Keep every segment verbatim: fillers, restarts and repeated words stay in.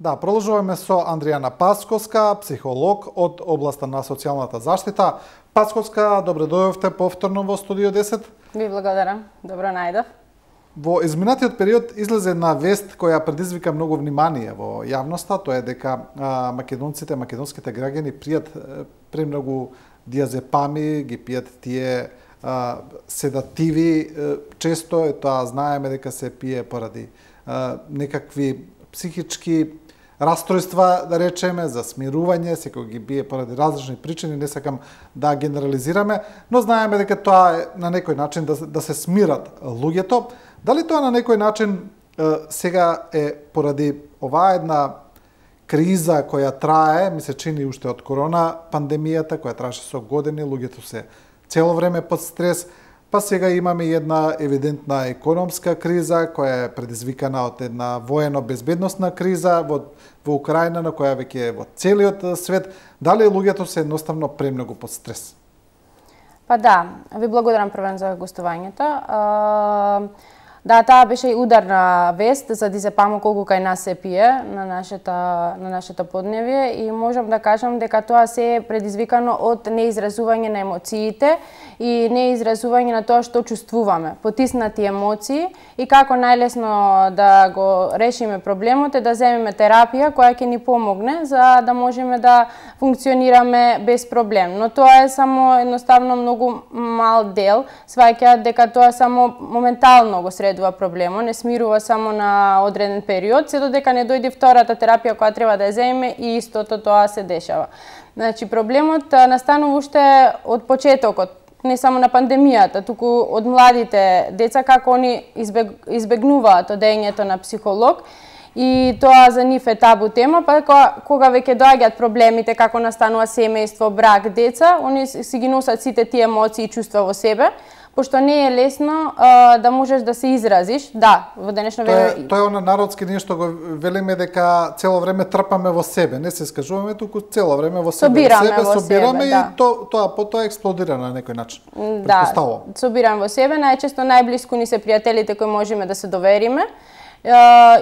Да, продолжуваме со Андријана Пасковска, психолог од областа на социјалната заштита. Пасковска, добре дојдовте повторно во студио десет. Ви благодарам. Добро најдов. Во изминатиот период излезе една вест која предизвика многу внимание во јавноста, тоа е дека а, македонците, македонските граѓани пијат премногу диазепами, ги пијат тие а, седативи, често е тоа знаеме дека се пие поради а, некакви психички растројства, да речеме, за смирување, секој ги бие поради различни причини, не сакам да генерализираме, но знаеме дека тоа е на некој начин да, да се смират луѓето. Дали тоа на некој начин е, сега е поради оваа една криза која трае, ми се чини уште од корона пандемијата, која траеше со години, луѓето се цело време под стрес, па сега имаме една евидентна економска криза која е предизвикана од една воено-безбедносна криза во, во Украина, на која веќе е во целиот свет. Дали луѓето се едноставно премногу под стрес? Па да, ви благодарам првен за гостувањето. Да, таа беше и ударна вест за дизепамо колку кај нас се пие на нашата на нашето подневие и можам да кажам дека тоа се е предизвикано од неизразување на емоциите и неизразување на тоа што чувствуваме, потиснати емоции и како најлесно да го решиме проблемот е да земеме терапија која ќе ни помогне за да можеме да функционираме без проблем. Но тоа е само едноставно многу мал дел, сваќаат дека тоа само моментално го средува проблемот, не смирува само на одреден период, се додека не дојде втората терапија која треба да ја земеме и истото тоа се дешава. Значи проблемот настанува уште од почетокот, не само на пандемијата, туку од младите деца како они избег, избегнуваат одењето на психолог и тоа за нив е табу тема, па кога веќе доаѓаат проблемите како настанува семејство, брак, деца, они си ги носат сите тие емоции и чувства во себе, пошто не е лесно а, да можеш да се изразиш. Да, во денешно време... Тоа е она народски нешто го велиме дека цело време трпаме во себе, не се скажуваме, туку цело време во себе, собираме себе, во собираме себе, и да. то, тоа потоа експлодира на некој начин. Да, собираме во себе, најчесто најблиску ни се пријателите кои можеме да се довериме,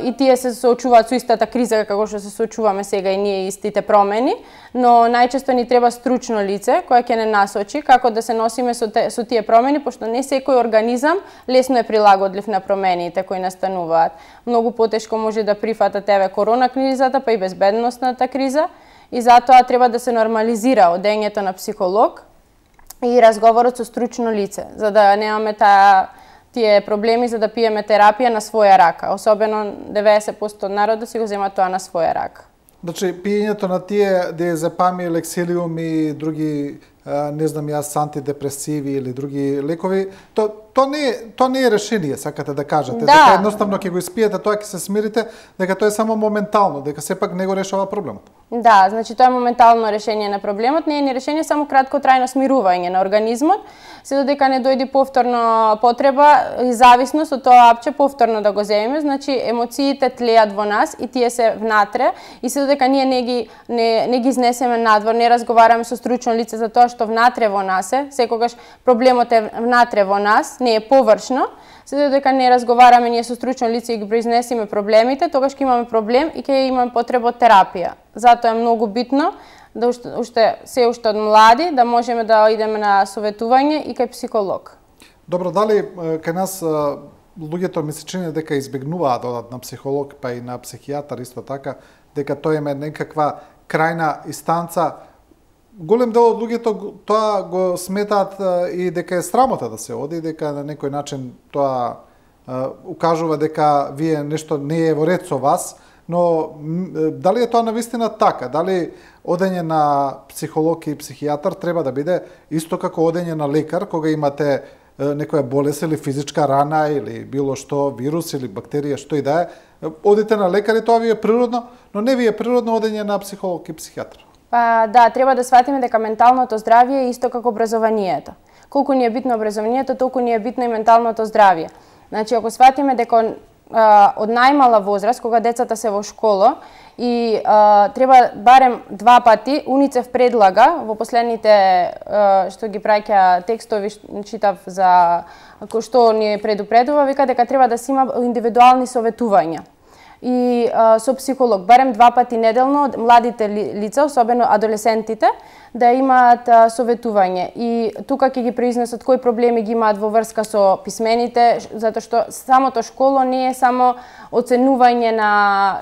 и тие се соочуваат со истата криза како што се соочуваме сега и ние истите промени, но најчесто ни треба стручно лице кое ќе не насочи како да се носиме со, те, со тие промени, пошто не секој организам лесно е прилагодлив на промените кои настануваат. Многу потешко може да прифата еве корона кризата, па и безбедносната криза, и затоа треба да се нормализира одењето на психолог и разговорот со стручно лице, за да немаме таа тие проблеми за да пиеме терапија на своја рака. Особено деветдесет проценти од народот си го зема тоа на своја рака. Значи, пиењето на тие диазепами, лексилиум и други, не знам јас, антидепресиви или други лекови, то, то, не, то не е решение, сакате да кажете. Да. Дека едноставно ќе го испиете, тоа ќе се смирите, дека тоа е само моментално, дека сепак не го решава проблемот. Да, значи тоа е моментално решение на проблемот, не е ни решение, само краткотрајно смирување на организмот, се додека не дојде повторно потреба и зависност од тоа апче повторно да го земеме, значи емоциите тлеат во нас и тие се внатре и се додека ние не ги не, не ги изнесеме надвор, не разговараме со стручно лице за тоа што внатре во нас е, секогаш проблемот е внатре во нас, не е површно, се додека не разговараме ние со стручно лице и ги произнесеме проблемите, тогаш ќе имаме проблем и ќе имаме потреба од терапија. Затоа е многу битно да уште, уште се уште од млади да можеме да идеме на советување и кај психолог. Добро, дали кај нас луѓето ми се чини дека избегнуваат да одат на психолог, па и на психијатар исто така, дека тоа е некаква крајна инстанца. Голем дел од луѓето тоа го сметаат и дека е срамота да се оди, дека на некој начин тоа укажува дека вие нешто не е во ред со вас, но дали е тоа навистина така? Дали одење на психолог и психијатар треба да биде исто како одење на лекар кога имате некоја болест или физичка рана или било што, вирус или бактерија, што и да е, одите на лекар и тоа ви е природно, но не ви е природно одење на психолог и психијатар. Па да, треба да сватиме дека менталното здравје е исто како образованието. Колку ни е битно образованието, толку ни е битно и менталното здравје. Значи, ако сватиме дека а, од најмала возраст, кога децата се во школа, и а, треба барем два пати, УНИЦЕФ предлага во последните а, што ги праќа текстови, читав за кој што ни предупредува, вика дека треба да се има индивидуални советувања. и а, со психолог, барем два пати неделно, младите лица, особено адолесцентите, да имаат а, советување. И тука ќе ги произнесат кои проблеми ги имаат во врска со писмените, затоа што самото школо не е само оценување на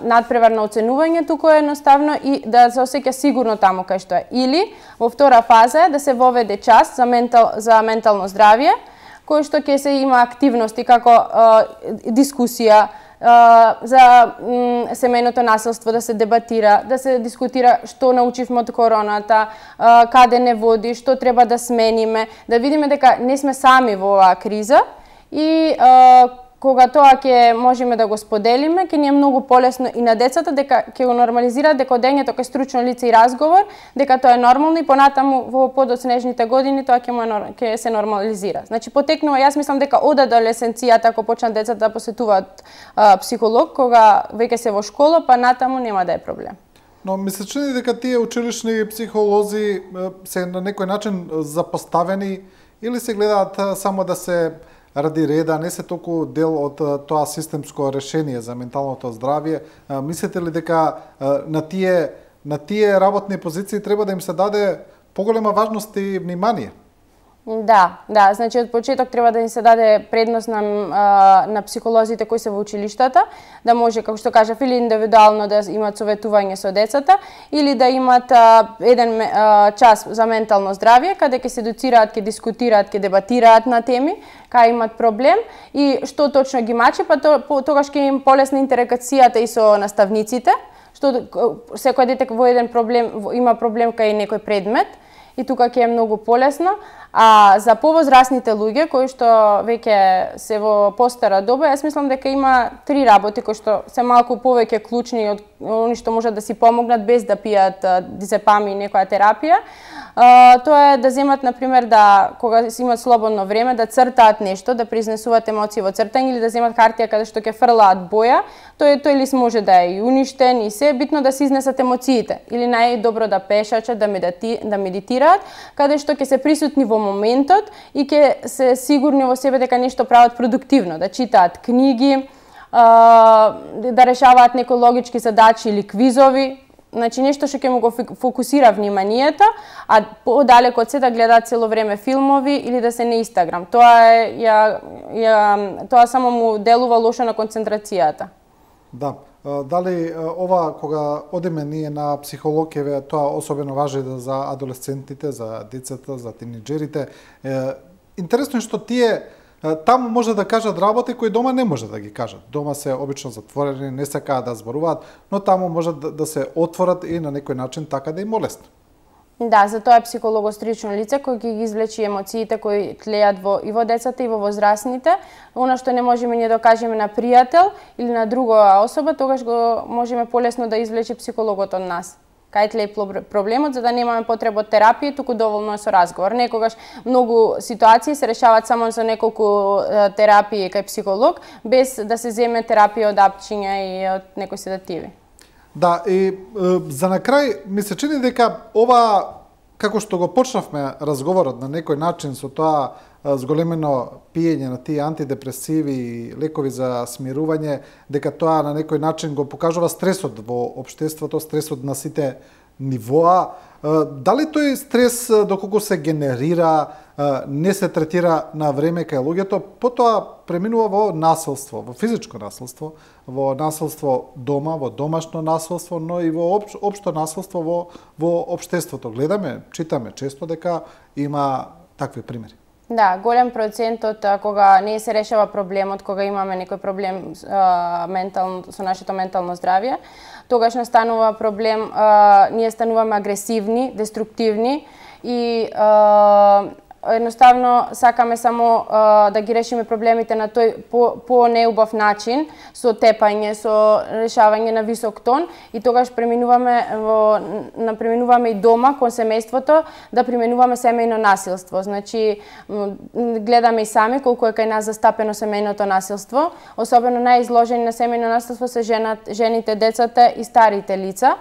надпреварно оценување, туку е едноставно и да се осеќа сигурно таму кај што е. Или во втора фаза е да се воведе час за ментал за ментално здравје, кој што ќе се има активности како а, дискусија, Uh, за mm, семејното насилство да се дебатира, да се дискутира што научивме од короната, uh, каде не води, што треба да смениме, да видиме дека не сме сами во оваа криза и uh, кога тоа ќе можеме да го споделиме, ќе ни е многу полесно и на децата дека ќе го нормализираат дека одењето кај стручно лице и разговор, дека тоа е нормално и понатаму во подоцнежните години тоа ќе му ќе се нормализира. Значи потекнува, јас мислам дека од адолесценцијата ако почнат децата да посетуваат а, психолог кога веќе се во школа, па натаму нема да е проблем. Но ми се чини дека тие училишни психолози се на некој начин запоставени или се гледаат само да се ради реда, не се толку дел од тоа системско решение за менталното здравје. Мислите ли дека на тие на тие работни позиции треба да им се даде поголема важност и внимание? Да, да, значи од почеток треба да им се даде предност на на психолозите кои се во училиштата, да може, како што кажав, или индивидуално да имаат советување со децата, или да имаат а, еден а, час за ментално здравје, каде ќе се educираат, ќе дискутираат, ќе дебатираат на теми, кај имаат проблем и што точно ги мачи, па то, по, тогаш ќе им полесна интеракцијата и со наставниците, што секој дете во еден проблем има проблем кај некој предмет, и тука ќе е многу полесно. А за повозрасните луѓе кои што веќе се во постара доба, јас мислам дека има три работи кои што се малку повеќе клучни од они што можат да си помогнат без да пијат дизепам и некоја терапија. Uh, тоа е да земат, например, да кога си имат слободно време, да цртаат нешто, да произнесуваат емоции во цртање или да земат хартија каде што ќе фрлаат боја. Тој тој лист може да е и уништен и се, битно да се изнесат емоциите. Или најдобро да пешачат, да медити, да медитираат, каде што ќе се присутни во моментот и ќе се сигурни во себе дека нешто прават продуктивно, да читаат книги, uh, да решаваат некои логички задачи или квизови. Значи нешто што ќе му го фокусира вниманието, а подалеку од се да гледаат цело време филмови или да се на Инстаграм. Тоа е ја, ја тоа само му делува лошо на концентрацијата. Да. Дали ова кога одиме ние на психолог, е тоа особено важи за адолесцентите, за децата, за тинеџерите. Интересно е што тие таму може да кажат работи кои дома не може да ги кажат. Дома се обично затворени, не сакаат да зборуваат, но таму може да, да се отворат и на некој начин така да им лесно. Да, за тоа е психологострично лице кој ги извлечи емоциите кои тлеат во и во децата и во возрастните. Она што не можеме ние да кажеме на пријател или на друга особа, тогаш го можеме полесно да извлече психологот од нас. Кај тле проблемот, за да немаме потреба од терапија, туку доволно е со разговор. Некогаш многу ситуации се решаваат само со неколку терапии кај психолог, без да се земе терапија од апчиња и од некои седативи. Да, и е, за на крај ми се чини дека ова, како што го почнавме разговорот на некој начин со тоа зголемено пиење на тие антидепресиви и лекови за смирување, дека тоа на некој начин го покажува стресот во општеството, стресот на сите нивоа. Дали тој стрес, доколку се генерира, не се третира на време кај луѓето, потоа преминува во насилство, во физичко насилство, во насилство дома, во домашно насилство, но и во опш, општо насилство во, во општеството. Гледаме, читаме често дека има такви примери. Да, голем процент од кога не се решава проблемот, кога имаме некој проблем а, ментално, со нашето ментално здравје, тогаш настанува проблем, а, ние стануваме агресивни, деструктивни и а, едноставно сакаме само а, да ги решиме проблемите на тој по, по неубав начин, со тепање, со решавање на висок тон и тогаш преминуваме во на преминуваме и дома кон семејството да применуваме семејно насилство. Значи гледаме и сами колку е кај нас застапено семејното насилство, особено најизложени на семејно насилство се женат, жените, децата и старите лица.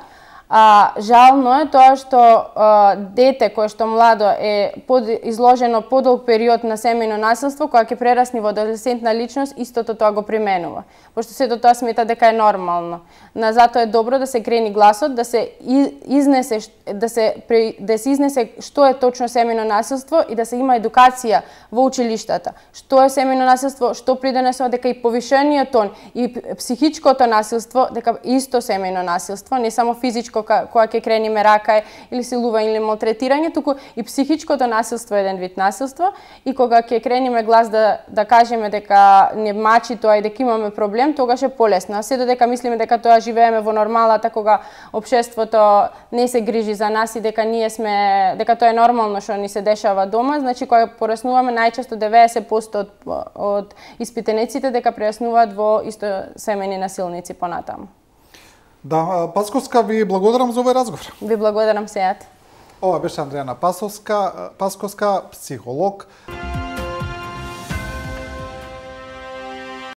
А, жално е тоа што а, дете кое што младо е под, изложено подолг период на семејно насилство, кога ќе прерасне во адолесцентна личност, истото тоа го применува. Пошто сето тоа смета дека е нормално. На затоа е добро да се крени гласот, да се изнесе да се да се изнесе што е точно семејно насилство и да се има едукација во училиштата. Што е семејно насилство, што придонесува, дека и повишениот тон и психичкото насилство, дека исто семејно насилство, не само физичко кога ќе крениме рака или силување или малтретирање, туку и психичкото насилство е еден вид насилство и кога ќе крениме глас да да кажеме дека не мачи тоа и дека имаме проблем, тогаш е полесно. А се додека мислиме дека тоа живееме во нормалата кога општеството не се грижи за нас и дека ние сме дека тоа е нормално што ни се дешава дома, значи кога пораснуваме најчесто деветдесет проценти од од испитениците дека прераснуваат во исто семејни насилници понатаму. Да, Пасковска, ви благодарам за овој разговор. Ви благодарам сејат. Ова беше Андрејана Пасковска, Пасковска, психолог.